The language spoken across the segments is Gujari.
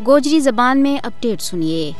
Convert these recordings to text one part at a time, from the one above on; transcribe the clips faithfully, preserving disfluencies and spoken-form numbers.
گوجری زبان میں اپڈیٹ سنیے۔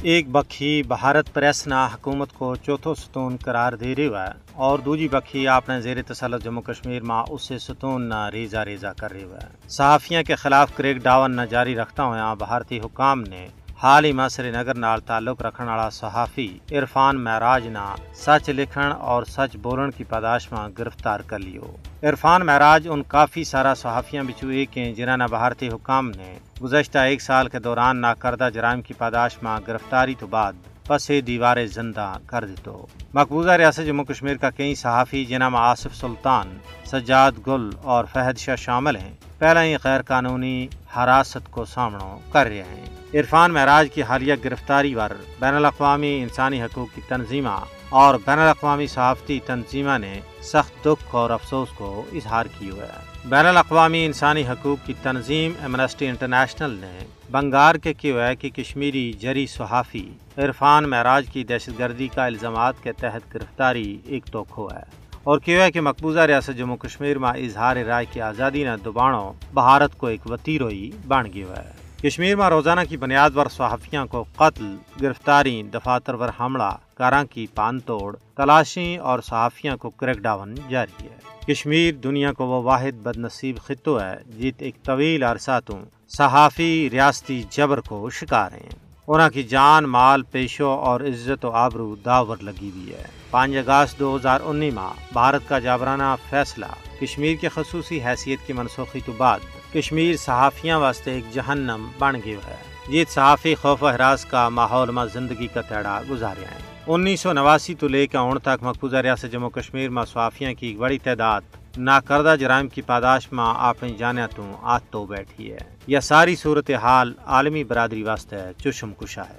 ایک بکھی بھارت پریس نا حکومت کو چوتھو ستون قرار دے رہیو ہے، اور دوجی بکھی اپنے زیر تسلط جموں کشمیر ما اسے ستون نا ریزہ ریزہ کر رہیو ہے۔ صحافیاں کے خلاف کریک ڈاون نا جاری رکھتا ہویا بھارتی حکام نے حال ہی ما سری نگر نال تعلق رکھن والا صحافی عرفان معراج نا سچ لکھن اور سچ بولن کی پاداش ما گرفتار کر لیو۔ عرفان معراج ان کافی سارا صحافیاں بچو ایک ہیں جنہاں نا بھارتی حکام نے گزشتہ ایک سال کے دوران ناکردہ جرائم کی پاداش ما گرفتاری تو بعد پسے دیوار زندہ کر دیتو۔ مقبوضہ ریاست جموں کشمیر کا کئی صحافی جنہاں ما آصف سلطان، سجاد گل اور فہد شاہ شامل ہیں، پہلا ہی غیر قانونی حراست کو سامنو کر رہیا ہیں۔ عرفان معراج کی حالیہ گرفتاری ور بین الاقوامی انسانی حقوق کی تنظیماں اور بین الاقوامی صحافتی تنظیماں نے سخت دکھ اور افسوس کو اظہار کیو ہے۔ بین الاقوامی انسانی حقوق کی تنظیم ایمنسٹی انٹرنیشنل نے بنگار کے کیو ہے کہ کشمیری جری صحافی عرفان معراج کی دہشت گردی کا الزامات کے تحت گرفتاری ایک توکھو ہے، اور کیو ہے کہ مقبوضہ ریاست جموں کشمیر ما اظہار رائے کی آزادی نا دبانو بھارت کو ایک وطیرو ہی بن گیو ہے۔ کشمیر ما روزانہ کی بنیاد پر صحافیاں کو قتل، گرفتاری، دفاتر پر حملہ، کاراں کی پان توڑ، تلاشی اور صحافیاں کو کریک ڈاون جاری ہے۔ کشمیر دنیا کو وہ واحد بدنصیب خطو ہے جت ایک طویل عرصہ توں صحافی ریاستی جبر کو شکار ہیں۔ انہاں کی جان، مال، پیشو اور عزت و آبرو داور لگی ہوئی ہے۔ پانچ اگست دو ہزار انی ما بھارت کا جابرانہ فیصلہ کشمیر کی خصوصی حیثیت کی منسوخی تو بعد کشمیر صحافیاں واسطے ایک جہنم بن گیو ہے۔ جیت صحافی خوف و ہراس کا ماحول ما زندگی کا تیڑا گزاریا ہیں۔ انیس سو نواسی تو لے کے ہن تک مقبوضہ ریاست جموں کشمیر ما صحافیاں کی ایک بڑی تعداد ناکردہ جرائم کی پاداش ما اپنی جانیاں توں آت تو بیٹھی ہے۔ یا ساری صورتحال عالمی برادری واسطے چشم کشا ہے۔